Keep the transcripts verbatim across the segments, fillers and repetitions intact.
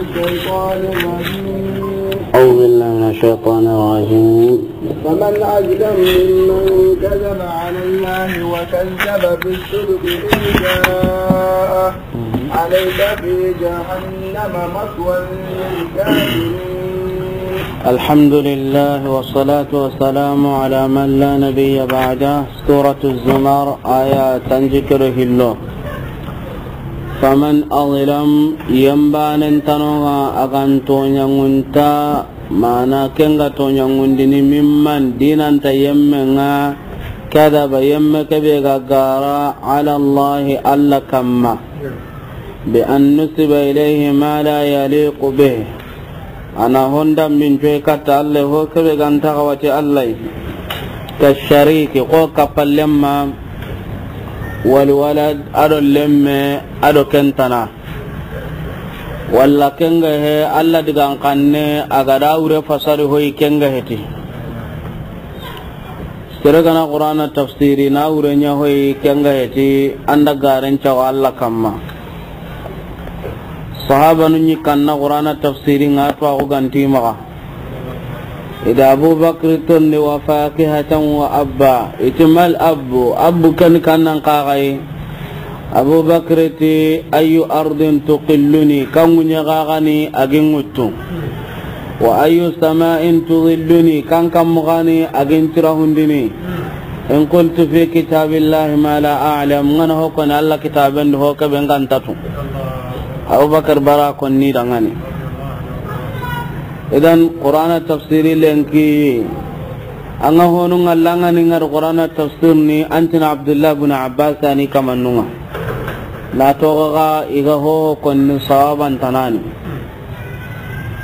الشيطان الرجيم. أعوذ بالله من الشيطان الرجيم. فمن أظلم ممن كذب على الله وكذب بالصدق إذ جاءه، أليس في جهنم مثوى للكافرين. الحمد لله والصلاة والسلام على من لا نبي بعده. Suratu Zumar, aya tanjikkero hillo. Faman azlam, yembanen tanoŋa a ga n toɲaŋunta, mana ken ga toɲaŋundini, mimman, dinanta yemmenŋa, kadaba, yemme kebe ga gara, ala Allahi, Alla kamma. Bi an nusiba ilayhi ma la yaliqu bih. A na honda min coy katta Alla ho kebe ga nta xawati Alla yi. Ka shariki, xo kappalemma, wal walad, a do lemme, a do ken tana. Walla ken ga he Alla digan xanne a ga da wure fasari hoyi ken ga heti. Sere ga na Qur'ana tafsiri na wure ɲa hoyi ken ga heti, an da garen cawa Alla kamma. Sahabanu ɲi kanna Qur'ana tafsiri ŋa to a xo ganti maxa. I da Abubakar tondi, wa fakihatan wa abba. I ti mal abbu, abbu ken kannan kaxayi. Abubakar ti, ayu ardin tuqilluni, kanŋu ɲa xaxani a gi n ŋuttu. Wa ayu sama'in tudilluni, kan kammu xani a gi n tirahundini. In qultu fi kitabillahi ma la a'lam, n ga na ho koni Alla kitaben di ho kebe n ga nta tu. Abubakar bara konni dangani. Idan Qur'ana tafsiri lenki. An ga honu ŋa langa ni ŋa ri Qur'ana tafsir ni, an ti na Abdullah bin Abbas ni kamanun ŋa. Na toxo ga i ga ho konni sawaban tanani.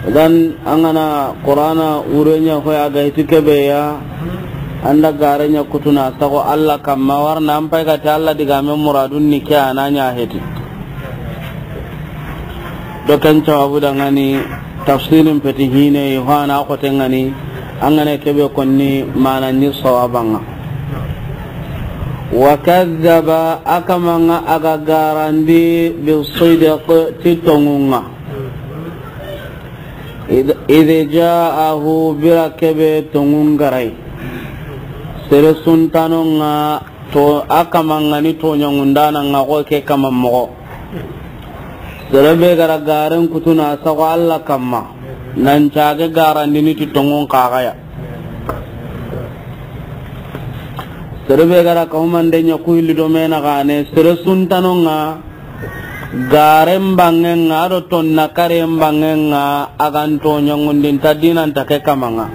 Idan an ga na Qur'ana wure ɲa hoyi a ga heti kebe ya, an da gare ɲa kutuna sago Alla kamma, warna an pay ga ti Alla digamen muradun ni ke a na ɲa heti. Do ken sababu dangani tafsirin feti hine yi ho a na xote ŋa ni, an ga na kebe konni mana ni sawaban ŋa. Wa kadhaba, a kaman ŋa a ga garandi, bi sidq, ti tonŋun ŋa. Idh, idh ja'ahu, bira kebe tonŋun ga ri. Sere suntanon ŋa to, a kaman ŋa ni toɲaŋundanan ŋa xo ke kaman moxo. Sere be ga ra garen kutuna sago Alla kamma, nan cage garandini ti tonŋun kaxaya. Sere be ga ra kahumande ɲa ku hilli do me na xane, sere suntanon ŋa, garen banŋen ŋa, a do tonna karen banŋen ŋa, a ga n toɲaŋundinta dinanta ke kaman ŋa.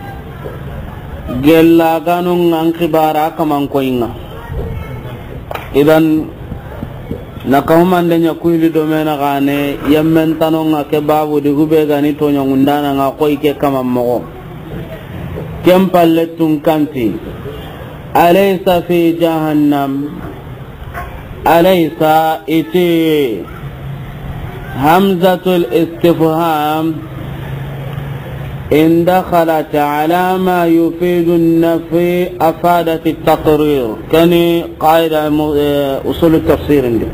Gella ganun ŋa n xibara kaman koyin ŋa. Idan, na kahumande ɲa ku hilli do me na xane, yemmen tanon ŋa ke babu di hube ga ni toɲaŋundanan ŋa koyi ke kaman moxo. Ken palle tun kanti, alaysa fi jahannam, alaysa, i ti, hamzatul istifham, in dakhalat ala ma yufidu nafi afadat taqrir. Kani qaida mu-, eh, usul tafsir ndi.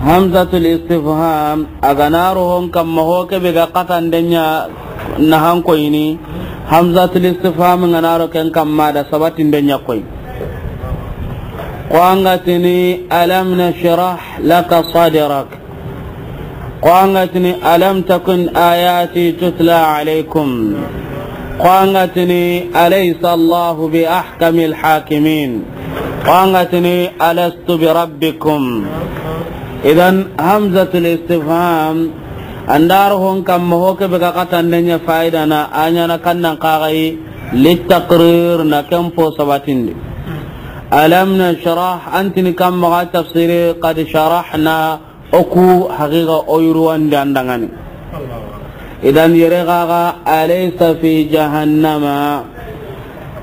Hamzatul istifham, a ga na ro hon kamma ho kebe ga xatande ɲa na han koyini. Hamzatul istifham ga na ro ken kamma da sabatinde ɲa koyi. Ko an ga tini, alam nashrah laka sadrak. Ko an ga tini, alam takun ayati tutla alaykum. Ko an ga tini, alaysa Allahu bi ahkamil hakimin. Ko an ga tini, alastu bi rabbikum. Idan, hamzatul istifham, an da ro hon kamma ho kebe ga xatande ɲa faida na, a ɲa na kannan kaxayi, litaqrir, na ken po sabatindi. Alam nashrah, an tini kamma ga tafsiri, qad sharahna, o ku haqiqa o yurwandi an dangani. Idan yere gaga, alaysa fi jahannama,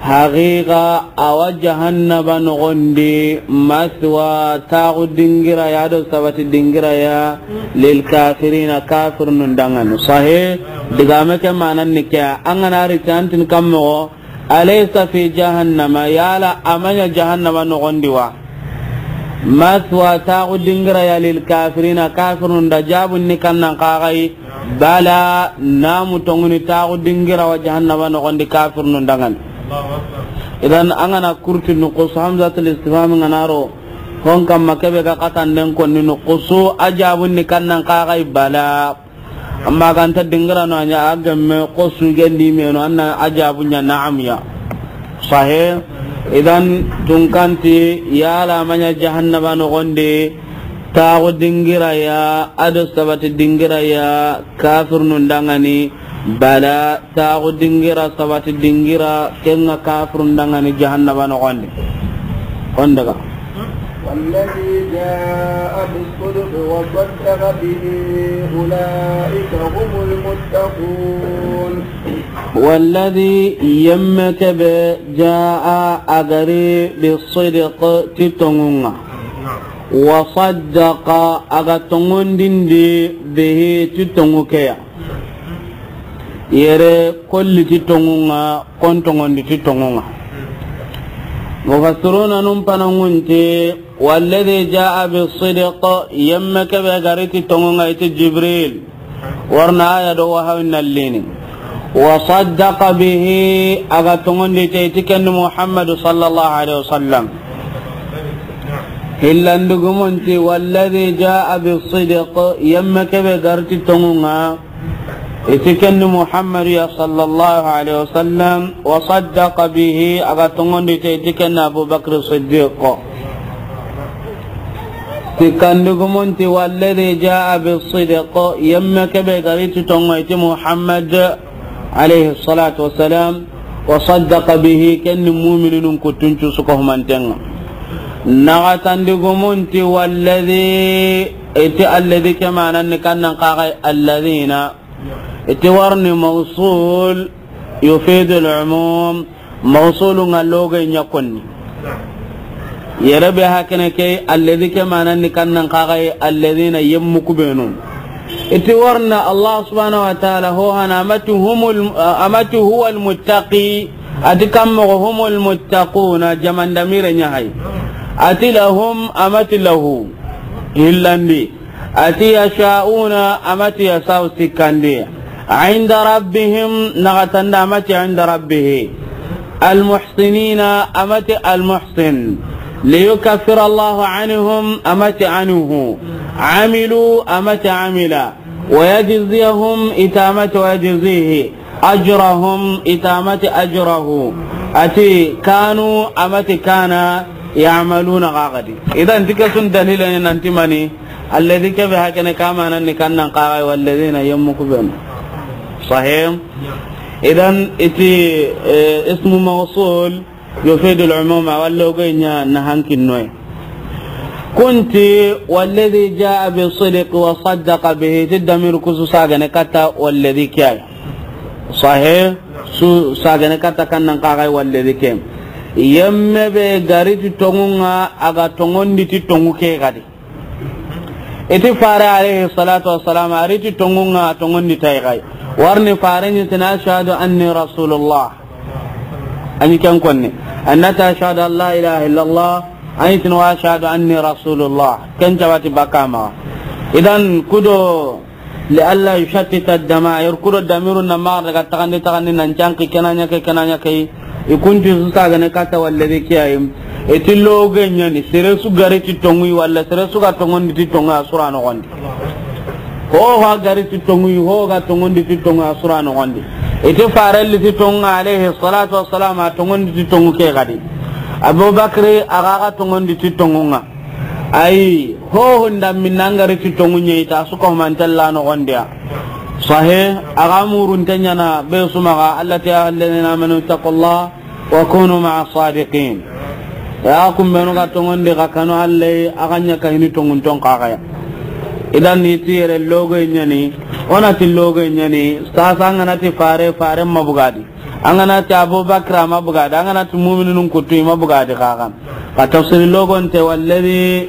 haqiqa awa jahannaba nogondi, maswa, taxu dingira ya do sabati dingira ya, lil kafirina, kafirnun dangani. Sahe, digame ke manan ni ke, an ga na ri ti an tini kammogo, alaysa fi jahannama, yala a ma ɲa jahannama nogondi wa? Maswa, taaxu dingira ya, lil kafirina, kafirnun da. Jaabun ni kannan kaxay, bala, namu, tonŋu ni, taaxu dingira wa jahannaba noxon di kafirnun danŋa ni. Idan an ga na kurti nuqusu, hamzatul istifham ga na ro hon kamma, kebe ga xatanden konni nuqusu, a jaabun ni kannan kaxay, bala. Amma ga nta dingira no, a ɲa a gemme xo sugendi menu, an na a jaabu ɲa na'am ya. Sahe. Idan tunkanti, yala ma ɲa jahannaba noxon di taaxu dingira ya, a do sabati dingira ya, kafirnun danŋa ni, bala, taaxu dingira, sabati dingira, ken ŋa kafirun danŋa ni jahannaba noxon di. Hon daga. والذي جاء بالصدق وصدق به أولئك هم المتقون. والذي, yemme kebe, جاء, a ga ri, بالصدق, ti tonŋun ŋa. وصدق, a ga tonŋondindi, به, ti tonŋu ke ya. Yere kolli ti tonŋun ŋa, kon tonŋondi ti tonŋun ŋa. Mufassiruna nun panangunti, والذي جاء بالصدق, yemme kebe ga ri ti tonŋun ŋa, i ti Jibril. Wa ri na aya do wahayi nallini. وصدق به, a ga tonŋondi te, i ti ken ni Muhammadu sallallahu alaihi wasallam. Hillandugumunti, والذي جاء بالصدق, yemme kebe ga ri ti tonŋun ŋa, i ti ken ni Muhammadu ya sallallahu alaihi wasallam, وصدق به, a ga tonŋondi te, i ti ken ni Abu Bakr Siddiq. Sikkandugumunti, والذي جاء بالصدق, yemme kebe ga ri ti tonŋu, i ti Muhammad, alayhi salatu wassalam, وصدق به, ken ni mu'minun kuttuncu su ko humanten ŋa. Naxatandigumunti, والذي, i ti الذي ke manan ni kannan kaxay الذين, i ti wa ri ni mawsul, يفيد العموم, mawsulun ŋa loge ɲa konni. Yere be hakene ke, الذي ke manan ni kannan kaxay الذين, yemmu kubenu. I ti wa ri na Allah subhanahu wa ta'ala ho hana, a ma ti humul, a ma ti هو المتقي, a ti kammoxo هم المتقون, jamandamire ɲa hay. A ti لهم, a ma ti له, hillandi. A ti يشاءون, a ma ti يشاء sikkandi. عند ربهم, naxatanda, a ma ti عند ربه. المحسنين, a ma ti المحسن. ليكفر الله عنهم, a ma ti عنه. عملوا, a ma ti عمل. ويجزيهم, i ti a ma ti ويجزيه. أجرهم, i ti a ma ti أجره. A ti كانوا, a ma ti كان, يعملون غاغدي. Idan ti ke su ni dalila ni nanti mani, الذي ke be hakene ke manan ni kannan kaxay والذين, yemmu kubenu. Sahih. Idan i ti, eh, ismu mawsul, يفيد العموم, a wa loge ɲa na hankinnoye. Kunti, والذي جاء بالصدق وصدق به, ti damir ku su sagane katta والذي ke ya. Sahih, su sagane katta kannan kaxay والذي ke. Yemme be ga ri ti tonŋun ŋa, a ga tonŋondi ti tonŋu ke gadi. I ti fare alayhi salatu wassalam, a ri ti tonŋun ŋa, tonŋondi tay gay. Wa ri ni fare ɲi ti na, أشهد أني رسول الله. A ɲi ken konni. A na ti, أشهد أن لا إله إلا الله. A ɲi ti na, وأشهد أني رسول الله. Ken jawati bakama. Idan kudo, لئلا يشتت الضمائر, kudo damirun na maxa daga taxandi taxandi nan canki, ke na ɲa ke, ke na ɲa ke. I kunti su sagane katta والذي ke ya yi. I ti loge ɲa ni, sere su ga ri ti tonŋu yi, walla sere su ga tonŋondi ti tonŋu, a su ra noxon di. Ho ho ga ri ti tonŋu yi, ho ga tonŋondi ti tonŋu, a su ra noxon di. I ti farelli ti tonŋu ŋa, alayhi salatu wassalam, a tonŋondi ti tonŋu ke gadi. Abubakri, a ga ga tonŋondi ti tonŋun ŋa. Ayi, ho ho nda minna ga ri ti tonŋu ɲa, i ta su ko mantella noxon di ya. Sahih, a ga murunte ɲa na be su maxa, Allah ti, يا أيها الذين آمنوا اتقوا الله وكونوا مع الصادقين. Ya kumbenu ga tonŋondi, xa kanu Allah, a ga ɲa ka hini tonŋun ton kaxaya. Idan i ti yere loge ɲa ni, o na ti loge ɲa ni, sasa an ga na ti fare, fare ma bugadi. An ga na ti Abubakar a ma bugadi, an ga na ti mu'minun kuttu i ma bugadi xaxan. Xa tafsiri logonte, والذي,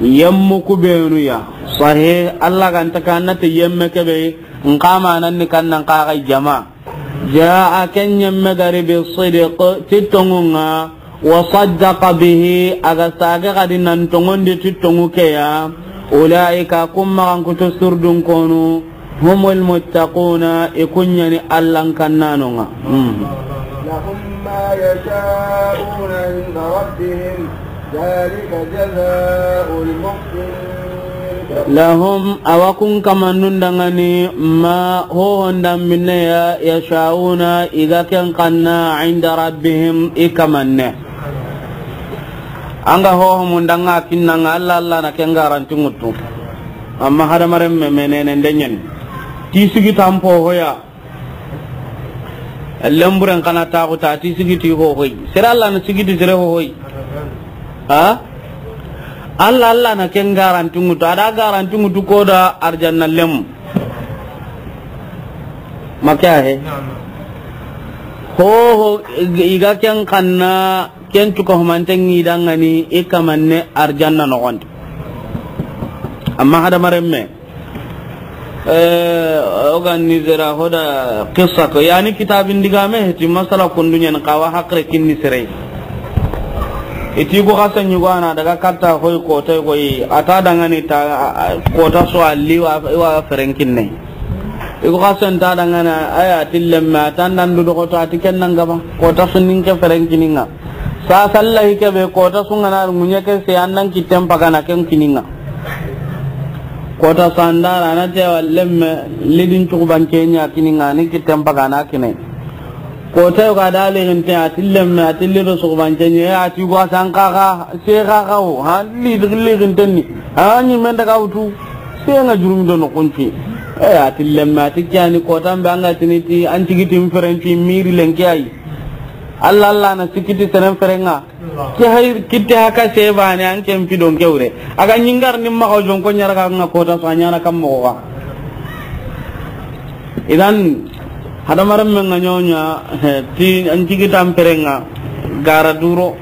yemmu kubenu ya. Sahih, Allah ga nta ka na ti yemme kebe, nxa manan ni kannan kaxay jama. جاء, ken yemme ga ri, بالصدق, ti tonŋun ŋa, وصدق به, a ga sage xadi nan tonŋundi ti tonŋu ke ya, أولئك, kun maxankutu surdun konu, هم المتقون, i kun ɲa ni Allan kannanonŋa. Hmm. لهم ما يشاءون عند ربهم ذلك جزاء المحسنين. Lahum, a wa kun kamannun danŋa ni, ma, hohon danbinne ya, yasha'una, i ga ken xanna, inda rabbihim, i kamanne. An ga hoho mun danŋa kinnanŋa, Alla, Alla na ken garanti ŋuttu. Amma hadamaren me, menene ndenyen. Ti sigi tampo hoya. Lemburen kana taxu ta ti sigi ti hohoy. Sere Alla na sigi ti sere hohoy. Ha? Alla, Alla na ken garanti ŋuttu. A da garanti ŋuttu ko da arjanna lem. Maka he. Hoho i ga ken xanna, ken cuka humanten ŋi danŋa ni i kamanne arjanna noxondi. Amma hadamaren me. Eh, o ga ni sera hoda qissa ko, yani kitabin digame heti masala kundu ɲen xawa haqre kinni sere. I ti ko xasa ɲugo a na daga katta hoy kota koy, a ta danŋa ni ta, a, a, kota so alli wa, wa ferenkinne. I ko xasa nta danŋa na, aya tillemme, a ta ndan du doxoto, a ti ken nan gaba, kota so nin ke ferenkininŋa. Sa sallahi ke be kota su ŋa na ŋuɲe ke se an nan kitten pagana ken kininŋa. Kota sandara na te wa lemme lidin cuxubanke ɲa kininŋa ni kitten pagana kine. Kota yo ga da lixinte a tillemme a tilli do suxubanke ɲa a ti gwa san xaxa se xaxa o ha li lixinten ni. A ɲi men daga wutu se ŋa jurumi do no kunci. E a tillemme a ti kyani kota mbe an ga tini ti an tigitin ferenci miri lenki ayi. Alla, Alla na sikiti seren ferenŋa. Ke hay kitte haka sebane an ken pidon kewre. A ga ɲingar nim maxa jon ko ɲara ga ŋa kota so a ɲana kam moxo ga. Idan hadamaren men ŋa ɲoɲa, he, ti an tigitan ferenŋa gara duro.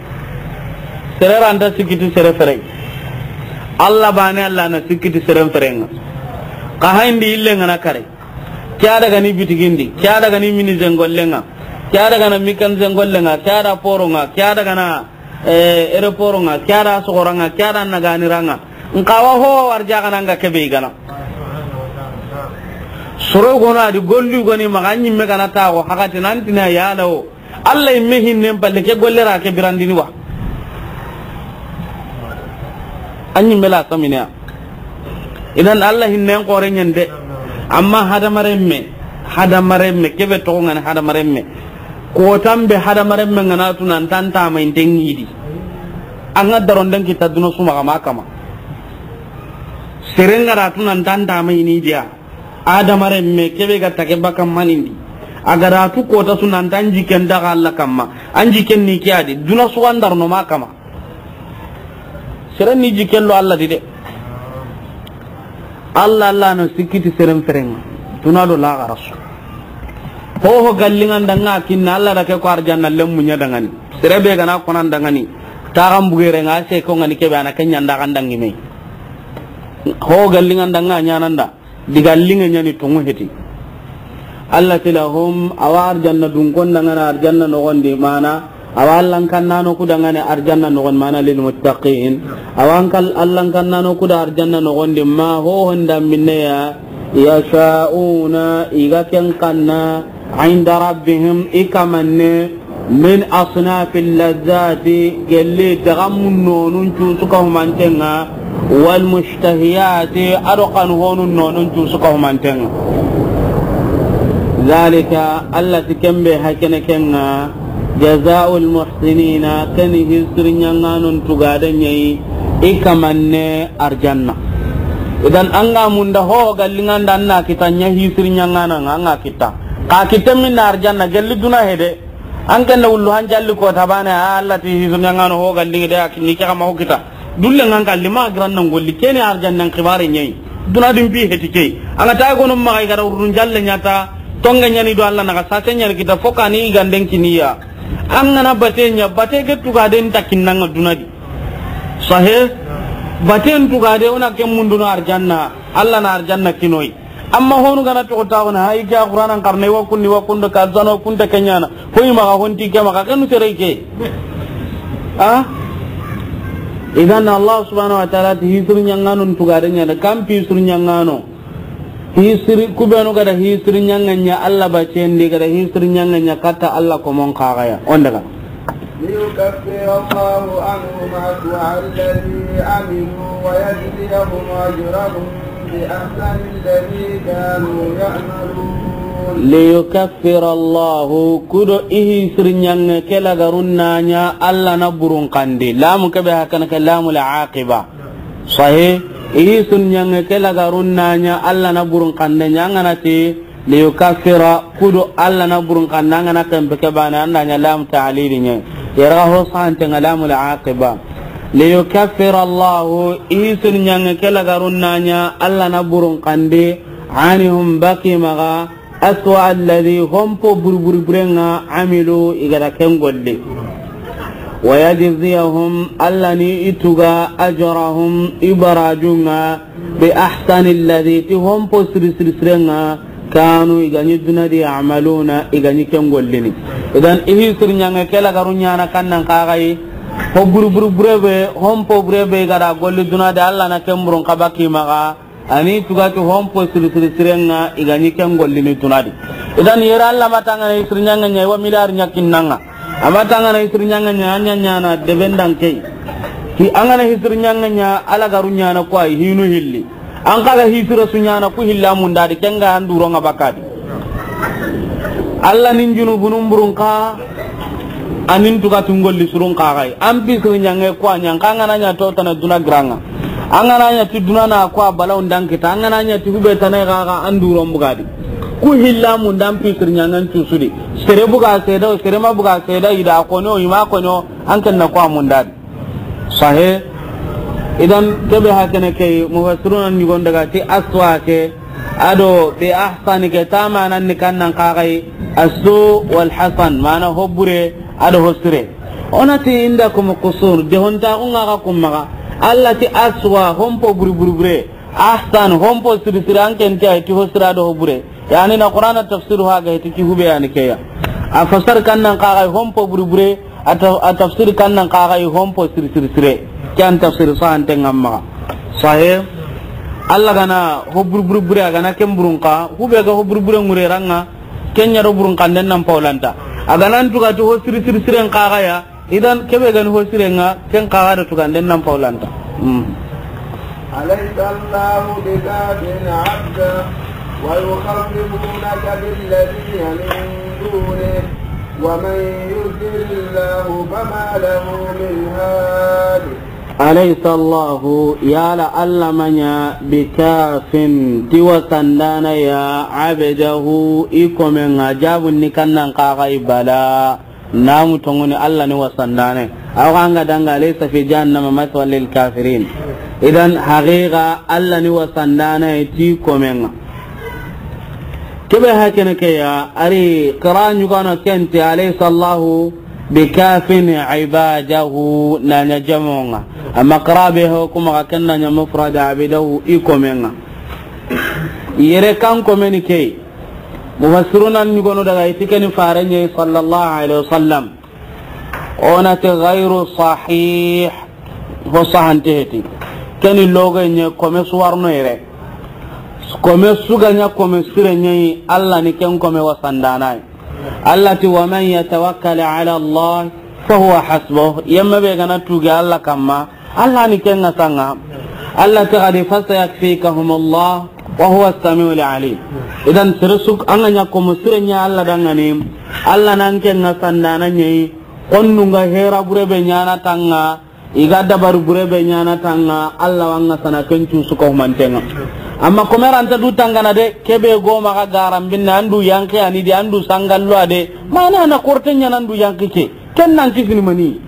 Sere ranta sikiti sere fere. Alla bane Alla na sikiti seren ferenŋa. Ka hayndi ille ŋa na kare. Ke a daga ni bitigindi, ke a daga ni mini zengollenŋa, ke a daga na mikan zengollenŋa, ke a da poronŋa, ke a daga na, eh, aéroportnŋa, ke a da sogoranŋa, ke a da naganiranŋa. Nkawa ho warjagananŋa kebe i gana. Soro gono a di golli goni maxa ɲimme gana taxo hakati nantina yalawo. Alla yimme hinnen palle ke golle ra ke birandini wa. A ɲimme la saminiya. Idan Alla hinnen xore ɲende. Amma hadamarenme, hadamarenme, kebe toxo ŋani hadamarenme. Kotan be hadamarenme ŋana tu nan tantama inte ŋidi. An ga daronden kita duna su maxa ma kama. Seren ga ra tu nan tantama ini diya. Adamaren me kebe ga tage baka manindi. A ga ra tu kota su nan ta an jikken daga Alla kamma. An jikken ni ke a di. Duna su an darno ma kama. Seren ni jikken lo Alla di de. Alla, Alla na sikkiti seren ferenŋa. Duna do laxara su. Ho ho gallinŋa nda ŋa kinna Alla da ke ko arjanna lemmu ɲa dangani. Sere be ga na ko nan dangani. Taxan bugere ŋa se ko ŋani kebe a na ke ɲa nda kan dangi me. Ho gallinŋa nda ŋa ɲananda. Diga linŋe ɲani tonŋu heti. Alla ti lahum, awa arjanna dunkon dangana arjanna noxondi mana, awa Allan kannano ku dangana arjanna noxondi mana lil muttaqin. Awa an kal Allan kannano ku da arjanna noxondi ma ho honda minne ya, yasha'una, i ga ken kanna, inda rabbihim, i kamanne, min asnafi lladzati, gelli daga mun nonun cu su ka humantenŋa, wal mushtahiyati, a do kanu honun nonun cu su ka humantenŋa. Zalika, Alla ti ken be hakene kenŋa, jazaa'ul muhsinina, ken hisiri ɲaŋanun tugade ɲa yi, i kamanne arjanna. Idan an ga munda ho gallinŋa nda an na kita ɲa hisiri ɲaŋana ŋa an ga kita. Ka kita minna arjanna gelli duna hede. An ken da wullu han jalli ko tabane, a Alla ti hisu ɲaŋano ho galli de ak ni ke kama ho kita. Dulle ŋan kalli ma giran nan golli kene arjannan xibare ɲa yi. Duna dum bi heti ke. An ga ta gono ma ga ra urun jalle ɲata. Tonga ɲani do Alla na ga sase ɲani kita fo kani ganden kiniya. An ga na bate ɲa, bate ke tuga den takinnanga duna di. Sahe? Baten tuga de ona ken munduno arjanna. Alla na arjanna kinoyi. Amma honu gana toxo taxuna, hayi ke a Qur'anan xarne, wa kunni, wa kundo, ka zano, kunta kenyana. Hoyi maxa, honti ke maxa, kenu sere ke. A, idan Allah subhanahu wa ta'ala ti hisir ɲaŋanon tugare ɲa da, kan pisir ɲaŋano. Hisiri, ku benu ga da hisiri ɲaŋa ɲa Allah baccen di, ga da hisiri ɲaŋa ɲa katta Allah komon kaxaya. On daga. ليكفر الله عنهم أسوأ الذي عملوا ويجزيهم أجرهم بأحسن الذي كانوا يعملون. ليكفر الله, ku do i hisiri ɲaŋa ke lagarun na ɲa Allah na burun xande. Lamu ke be hakana ke lamul aqiba. Sahi, i hisiri ɲaŋa ke lagarun na ɲa Allah na burun xande ɲa, an ga na ti liyukaffira, ku do Allah na burun xande, an ga na kempe ke bane, an da ɲa lam ta'lili ɲa. Yera ho sante ŋa lamul aqiba. Liyukaffira Allah, i hisiri ɲaŋa ke lagarun na ɲa Allah na burun xande, anhum, baki maxa, aswa alladhi, hompo buruburu burenŋa, amilu, i ga da ken golli. Wa yajziyahum, Allah ni i tuga, ajrahum, i barajunŋa, bi ahsani alladhi, ti hompo siri siri sirenŋa, kanu, i ga ɲi duna di, ya'maluna, i ga ɲi ken gollini. Idan, i hisiri ɲaŋa ke lagaru ɲaana kannan kaxayi, ho buruburu bure be, hompo bure be i ga da golli duna di, Allah na ken burun xa baki maxa, ani tugati hompo siri siri sirenŋa, i ga ɲi ken gollini duna di. Idan yere Allah ma tangana hisiri ɲaŋa ɲa, i wa miliyar ɲa kinnanŋa. A ma tangana hisiri ɲaŋa ɲa, a ɲa ɲaana deben dan ke yi. Hi, an ga na hisiri ɲaŋa ɲa, a lagaru ɲaana ku wa yi, hinu hilli. An xa ga hisira su ɲaana ku hilla munda di, ken ga an duronŋa bakka di. Allah nin junubunun burun xa, anin tuga tungolli surun xa xayi. An pisiri ɲaŋa ku wa ɲa, an xa an ga na ɲa to tana duna giranŋa. An ga na ɲa ti duna na ku wa balaw ndan kita, an ga na ɲa ti hube tana xa xa an duron buga di. Ku hilla munda an pisiri ɲaŋan cusu di. Sere buga seda, sere ma buga seda, i da kono, i ma kono, an ken na ku wa munda di. Sahe. Idan, kebe hakene ke, mufassiruna ɲugon daga ti aswa ke, ado bi ahsani ke, tamanan ni kannan kaxayi, asu wal hasan, mana ho bure, ado ho sire. Onati indakum qusur, de honta ku ŋa ga kummaga. Allah ti aswa, hompo buri buri bure. Ahsan, hompo siri siri, an ken ti ay ti ho sira do ho bure. Yani na Qur'ana tafsir ha ga ti ki hube yani ke ya. A fasar kannan kaxayi hompo buri bure, a ta-, a tafsir kannan kaxayi hompo siri siri sire. Ke an tafsir sahante ŋa maxa. Sahe. Allah ga na ho buri buri bure, a ga na ken burun xa, hube ga ho buri bure ŋure ranŋa, ken ɲa do burun xanden nan pawlanta. A ga nan tuga ti ho siri siri siren kaxaya, idan kebe ga ni ho sirenŋa, ken kaxa do tuganden nan pawlanta. Hmm. أليس الله بكاف عبده ويخوفونك بالذين من دونه ومن يضلل الله فما له من هاد. أليس الله, yala Allah ma ɲa, bikafin, ti wasandana ya, abdahu, i komen ŋa, jabun ni kannan kaxayi bala. Namu tongoni Allah ni wasandane. Awa anga danga laysa fi jahannama mathwa lil kafirin. Idan haqiqa Allah ni wasandane ti komen ŋa. Kebe hakene ke ya, ari qira ɲugano ken ti alaysa Allahu bikafin ibadahu na ɲa jamonŋa. Amma qira be ho kuma ka ken na ɲa mufrad abdahu i komen ŋa. Yere kan komeni ke. Mufassiruna ɲugono daga i ti keni fare ɲa yi sallallahu alaihi wasallam. Onati ghairu sahih. Ho sahante heti. Keni loge ɲa kome suwarno yere. Kome su ga ɲa kome sire ɲa yi, Allah ni ken kome wasandana yi. Allah ti, "Wa man yatawakkal ala Allah fa huwa hasbuh." Yemme be ga na tuge Allah kamma, Allah ni ken ŋa sanŋa. Allah ti gadi, "Fasayakfikahumullah wa huwa as-sami'ul alim." Idan sere su an ga ɲa kome sire ɲa Allah dangani, Allah nan ken ŋa sandana ɲa yi. Konnun ga hera bure be ɲaana tanŋa, i ga dabar bure be ɲaana tanŋa, Allah wa an ŋa sana ken cu su ko humantenŋa. Amma kome ranta du tangana de, kebe go maxa garan binne, an du yanqi ani de, an du sangallo a de, mana na korte ɲaana an du yanqi ke. Ken nan kisini mani?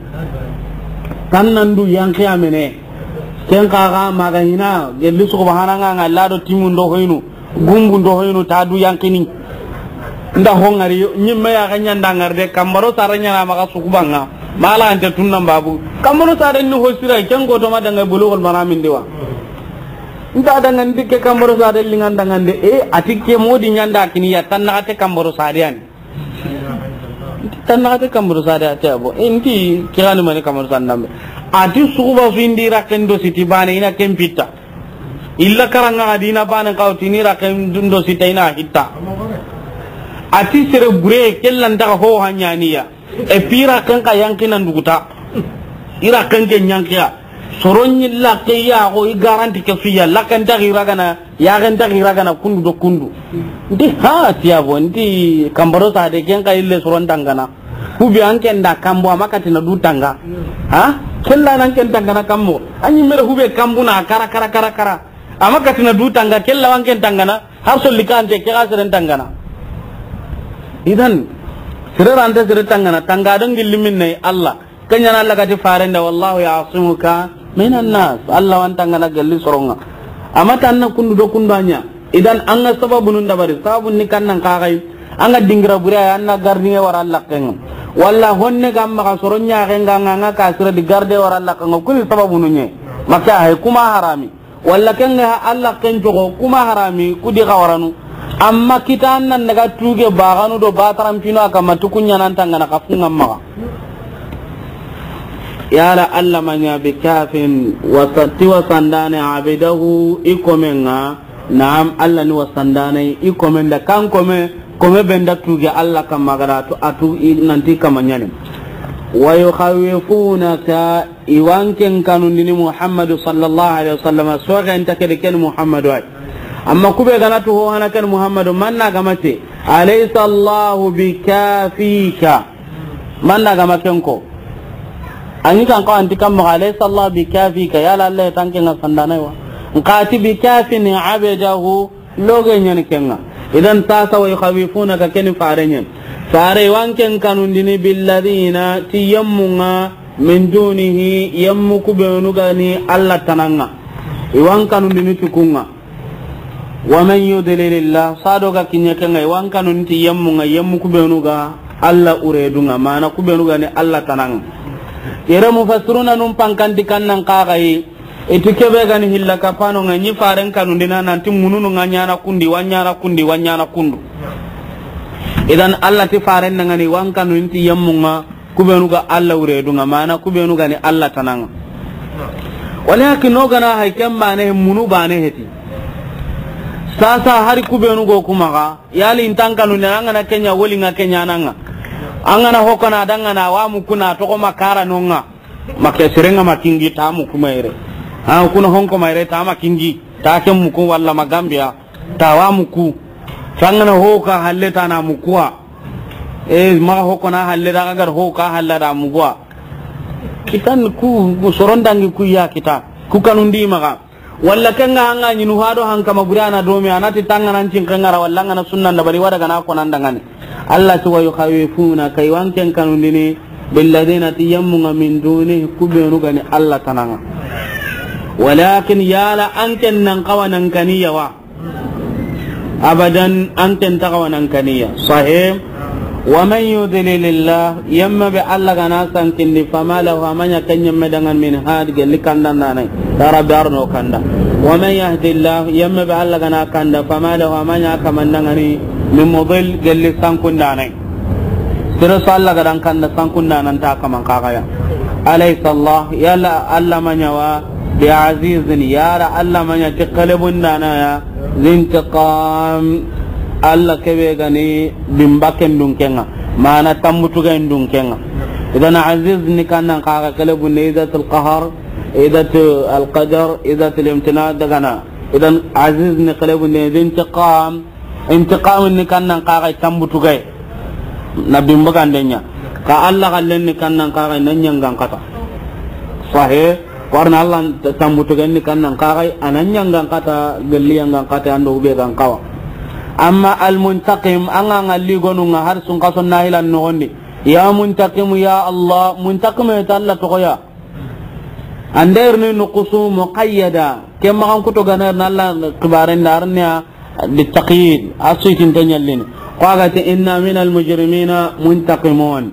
Kan nan du yanqi a mene. Ken kaxa maga hina, gelli subhana ŋa ŋa lado timundo hoynu, gumbundo hoynu ta du yanqini. Nda ho ŋari, ɲimme ya ga ɲanda ŋari de, kambaro sare ɲaana maxa sukubanŋa. Mala ante tunnan babu. Kambaro sare ni ho sira, ken go to ma danga Bulughul Marami ndi wa. Nta danga ndi ke kambaro sare lingan danga nde, e, ati ke modi ɲanda kini ya tan na te kambaro sare yani. Tannaxate Kamburu Sade a ti a bo. E, nti kirani mani Kamburu Sade nambe. A ti suxuba su indi raken do siti bane i na ken pitta. Illa karanga ga dina bane kawti ni raken do sita i na hitta. A ti sere bure kellan daga ho hanyaniya. E pi raken ka yanki nan duguta. I raken ke nyankiya. Soron yi lakke ya go i garanti ke fiya. Lakken ta gira gana, ya gen ta gira gana kundu do kundu. Nti ha ti a bo, nti Kamburu Sade ken ka ille soron tangana. Hube an ken da kambo, a ma katina du tanga. Ha? Kella nan ken tangana kambo. Anyi mere hube kambu na kara, kara, kara, kara. A ma katina du tanga, kella wan ken tangana. Har solli kante ke ga seren tangana. Idan, sere rante sere tangana, tanga don gilli min ne Allah. Kanyana Allah gati farenda, "Wallahu ya'simuka minan nas." Allah wan tangana gelli soronga. A ma tanna kundu do kundu anya. Idan an ga sababu nun dabari, sababu ni kannan kagai. An ga dingira bure ya, an na gardinge wara Allah kenga. Walla honne ga maga soron ɲaxenga, an ga ka sira di garde wara Allah kenga. Kuni sababu nunye. Maka hay kuma harami. Walla kenga ha Allah ken jogo kuma harami kudi xawaranu. Amma kitan nan daga tuge baganu do bataran pino a kamma tukunya nan tangana kafunga maga. Yala Allah manya bi kafin wasati wasandane abidahu ikomenga. Naam, Allah ni wasandane ikomen da kan kome, kome benda tuge Allah kamma gada tu atu i nanti kamanyani. Wa yukhawifunaka Iwanken kanundini Muhammadu sallallahu alaihi wasallam, soxen ta kedi ken Muhammadu ay. Amma kube gana tu ho hana ken Muhammadu, manna gamate, "Alaysa Allahu bikafika." Manna gama ken ko. Angi kan ko anti kam, "Alaysa Allahu bikafika." Yala Allah tanke nga sandana wa. Nqati bikafin abdahu. Loge ɲani kenga. Idan sasa wa yukhawifunaka keni fare ɲen. Fare wanken kanundini billadina ti yemmunga min dunihi yemmu kubenu gani Allah tananga. Iwan kanundini tukunga. Wa man yudlilillah sado ga kinye kenga iwan kanun ti yemmunga yemmu kubenu ga Allah uredunga mana kubenu gani Allah tananga. Yere mufassiruna num pankanti kannan kagai. Iti kebe gani hilla kapano nga ɲi faren kanundina nanti mununu nga ɲana kundi, wa ɲana kundi, wa ɲana kundu. Idan Allah ti faren nangani wan kanun ti yemmunga kubenu ga Allah uredunga mana kubenu gani Allah tananga. Walakin no gana hay ken bane munu bane heti. Sasa hari kubenu go kumaga yali intan kanundina angana kenya woli nga kenya nanga. Angana hokana dangana wa mukuna toko makara nonga. Make serenga makingi ta muku mayre. Ha kuna honko mayre ta makingi ta ke muku walla magambia ta wa muku. Sangana ho ka halle ta na mukuwa. E maga ho kona halle da gar ho ka halla da mukuwa. Kitan ku, ku sorondangi ku ya kita. Ku kanundi maga. Walla kenga hanga ɲinu hado hankama buri ana domi anati tangana ncin kengara walla ngana sunnan da bari wada gana konan dangani. Allah ti wa yukhawifunaka iwanken kanundini billadina ti yemmunga min duni kubenu gani Allah tananga. Walakin yala anken nan kawa nan kaniya wa. Abadan anken ta kawa nan kaniya. Sahih. Wa man yudlilillah, yemme be Allah gana sankindi, fama lahu, a ma ɲa ken yemme dangan min had, gelli kanda ndanai. Ya Rabbi, arno kanda. Wa man yahdillah, yemme be Allah gana kanda, fama lahu, a ma ɲa kaman dangani, min mudil, gelli sankundanai. Sere so Allah gadan kanda sankundanan ta kaman kagaya. Alaysa Allah, yala Allah ma ɲa wa, bi azizin, yala Allah ma ɲa ti kalebundana ya, zintiqam, Allah kebe gani bimba kendun kenga, mana tambutu ga indun kenga. Idan aziz ni kannan kaga kale bunde idatul qahar, idatul qadar, idatul imtina dagana. Idan aziz ni kale bunde zintiqam, intiqam ni kannan kaga tambutu ga na bimba gandenya. Ka Allah kallen ni kannan kaga nan yangan kata. Sahih. Warna Allah tambutu ganni kannan kagai anan yangan kata gelli yangan kata ando ube gan kawa. Amma al muntaqim anga ngalli gonu nga har sun kaso nahilan no gondi. Ya muntaqim ya Allah, muntaqim ya Allah to ya. Ander ni nuqusu muqayyada. Kemma kan kuto ganar na Allah kibaren darnya. Bittaqyid, a suitin ta ɲallini. Ko a ga ti, "Inna minal mujrimina muntaqimun."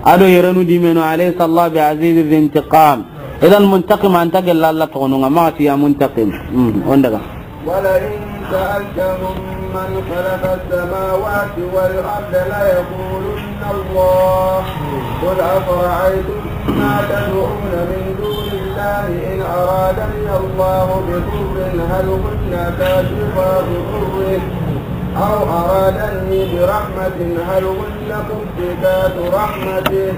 Ado yerenu dimeno, "Alaysa Allah bi azizi zi intiqam." Idan muntaqim anta gella Allah togonunga, maxa ti ya muntaqim. Hmm, on daga. ولئن سألتهم من خلق السماوات والأرض ليقولن الله. قل أفرأيتم ما تدعون من دون الله إن أرادني الله بضر هل هن كاشفات ضره أو أرادني برحمة هل هن ممسكات رحمته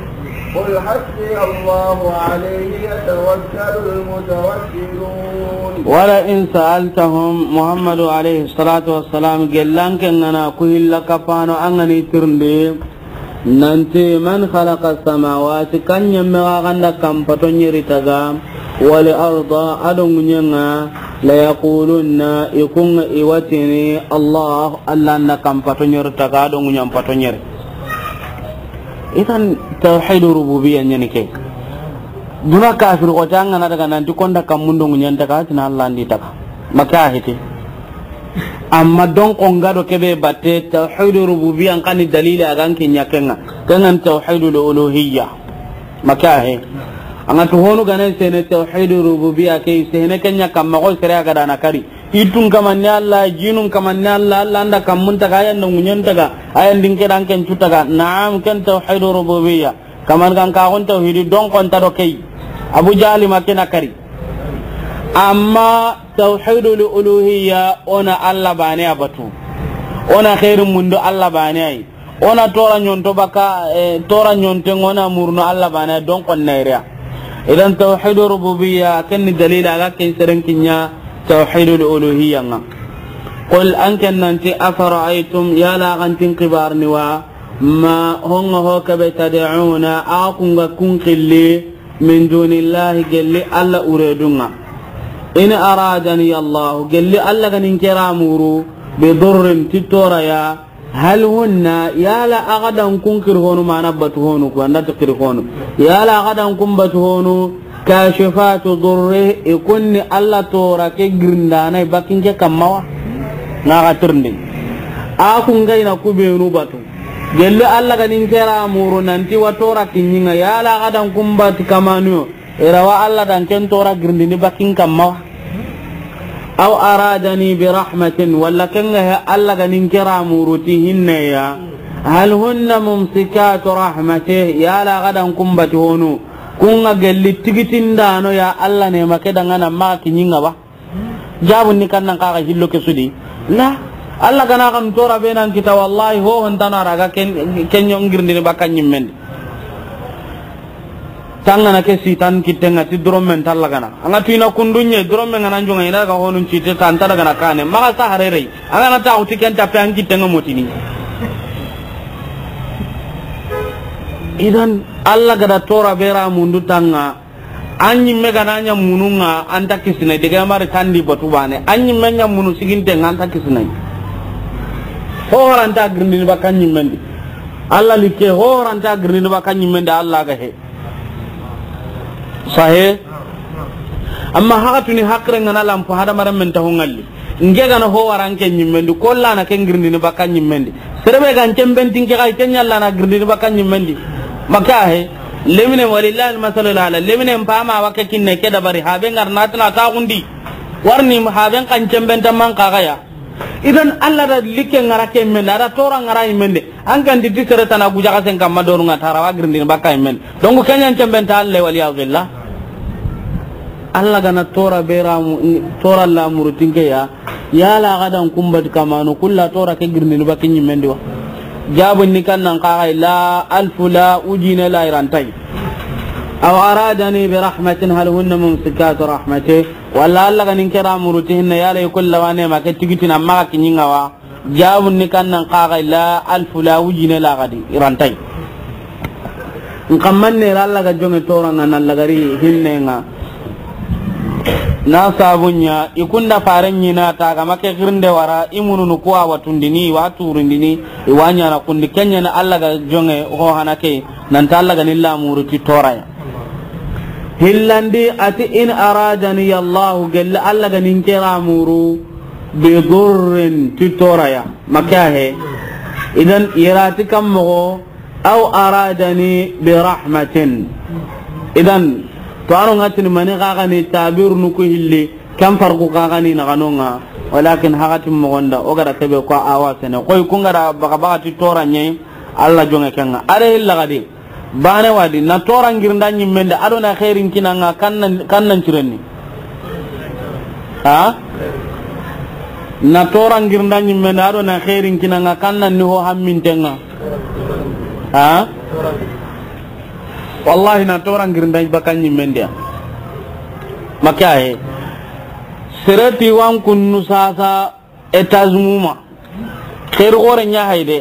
قل حسبي الله عليه يتوكل المتوكلون. ولئن سألتهم، Muhammadu alayhi salatu wassalam, gelli an ke ŋa na ku hilla kapano an ga ni tirindi, nanti, من خلق السماوات, kan ɲemme ga ganda kan pato ɲeri taga, والأرض, a do ŋuɲen ŋa, ليقولن, i ku ŋa i wa tini, الله, Alla nda kan pato ɲeri taga, a do ŋuɲen pato ɲeri. Idan, tawhidu rububiyya ɲa ni ke. Duna kafir xote an ga na daga nanti ko nda kanmun do ŋuɲen taga, a ti na Alla ndi taga. Ma ke a heti. Amma don ko nga do ke be batte, tawhidu rububiyya n xa ni dalili a ga n kiɲa ke ŋa. Ke ŋa ni tawhidul uluhiyya. Ma ke a he. An ga tu honu ga na sene tawhidu rububiyya ke, sene ke ɲa kamma xo sere a ga da na kari. I tun kamanni Alla, jinun kamanni Alla, Alla nda kanmun taga, a yan do ŋuɲen taga, a yan di n ke da n ke n cu taga. Naam, ken tawhidu rububiyya. Kaman kan ka xon tawhidi don ko nta do ke yi. Abu Jahli ma ke na kari. Amma tawhidul uluhiyya, o na Alla baane ya batu. O na xeeri mundu Alla baane ya yi. O na tora ɲonto baka, eh, tora ɲonte ŋa o na murunu Alla baane ya, don ko na iriya. Idan tawhidu rububiyya, ken ni dalila a ga ken seren kiɲa tawhidul uluhiyya ŋa. Qul, an ke nanti, afara'aytum, yala a ga nti n xibarini wa, ma, ho ŋa ho ke be, tad'una, a ku ŋa kun xilli, min dunillahi, gelli Alla wuredun ŋa. In aradani Allahu, gelli Alla ga ni n ke ra muru, bi durrin, ti tora ya, hal hunna, yala a ga da n kun xiri honu, mana batu honu, ku an da ti xiri honu. Yala a ga da n kun batu honu, kashifatu durri, i kun ni Alla tora ke girindana i bakin ke kamma wa. Na ga tirindi. A ku ŋa i na ku benu batu. Gelli Alla ga ni n ke ra muru nanti wa tora kiɲi ŋa, yala a ga da n kun batu kamanu yo. I ra wa Alla da n ken tora girindini bakin kamma wa. Aw aradani bi rahmatin, walla ke ŋa he Alla ga ni n ke ra muru ti hinne ya. Hal hunna mumsikatu rahmatih, yala a ga da n kun batu honu. Ku ŋa gelli tigitindano ya Alla ne ma ke da ŋa na ma kiɲi ŋa ba. Jabun ni kan nan xa ga hillo ke su di. La, Alla ga na xa n tora be nan kita, wallahi, ho hon tana ra ga ken, ken ɲo n girindini baka ɲimmen di. Tangana ke sitan kitten ŋa ti doromen talla gana. An ga tu i na kundunye, doromen ŋa na n jonŋa i na ga honun cite ta an ta daga na kane. Maxa sa harerei. An ga na ta xuti ken ta pe an kitten ŋa motini. Idan, Alla ga da tora be ra mundu tanga. An ɲimme ga na ɲa munu ŋa, an ta kisina, dege mari tandi batu bane. An ɲimme ɲa munu siginte ŋa, an ta kisina. Ho horanta girindini baka ɲimmen di. Alla likke, ho horanta girindini baka ɲimmen di, Alla ga he. Sahe. Amma haxatuni hakkire ŋa na lampu hadamaren men ta ho ŋalli. N ke ga na ho wara n ke ɲimmen di, ko Alla na ke girindini baka ɲimmen di. Sere be ga n cembentin ke xa, ke ɲa Alla na girindini baka ɲimmen di. Maka he, lemine walillahi almasalul ala, lemine n pama wa ke kinne ke dabari, haben ŋa ra na tana ta xundi. Warni haben xa n cembenta man xa ga ya. Idan Alla da likke ŋa ra ke men, a da tora ŋa ra i men de. An kan di ti sere tana guja xa sen kamma doru ŋa tara wa girindini baka i men. Donc ke ɲa n cembenta Alla, wal iyadu billah. Alla ga na tora be ra mu-, tora la murutin ke ya, yala a ga da n kun batu kamanu, ku Alla tora ke girindini baka ɲimmen di wa. Jabun ni kan nan xa ga la, alfu la, wujine la i ra nta yi. Aw aradani bi rahmatin hal hunna mumsikatu rahmatih. Walla Alla ga ni n ke ra muru ti hinne, yala i ku Alla wa ne ma ke tigitina ma ga kiɲi ŋa wa. Jabun ni kan nan xa ga la, alfu la, wujine la ga di, i ra nta yi. N kamman ne ra Alla ga jonŋe tora ŋa na lagari hinne ŋa. Na sabun ɲa, i kunda faren ɲi na ta ga ma ke girinde wara, i mununu ku wa watundini, i wa turindini, i wa ɲana kundi, ke ɲa na Alla ga jonŋe ho hana ke, nan ta Alla ga ni la muru ti tora ya. Hillandi a ti, in aradani Allahu, gelli Alla ga ni n ke ra muru, bi durrin, ti tora ya. Maka he. Idan, i ra ti kam moxo, aw aradani bi rahmatin. Idan, to ano ŋa tini mani xa ga ni tabirunu ku hilli, kan farqu xa ga ni na xa no ŋa, walakin haxatin moxon da, o ga da ke be ko a wa sene. Koy ku ŋa da baka baka ti tora ɲe, Alla jonŋe ke ŋa. A da hilla ga di. Baane wa di, na toora ŋirinda ɲimme ndi, a do na xeerin kini a ŋa, kan na, kan na ncirenni. Ha? Na toora ŋirinda ɲimme ndi, a do na xeerin kini a ŋa, kan na ni ho hamminten ŋa. Ha? Wallahi, na toora ŋirinda baka ɲimme ndi ya. Maka he. Sere ti wa n kunnu saasa, étage ŋu ma. Xeeri xoore ɲa hay de.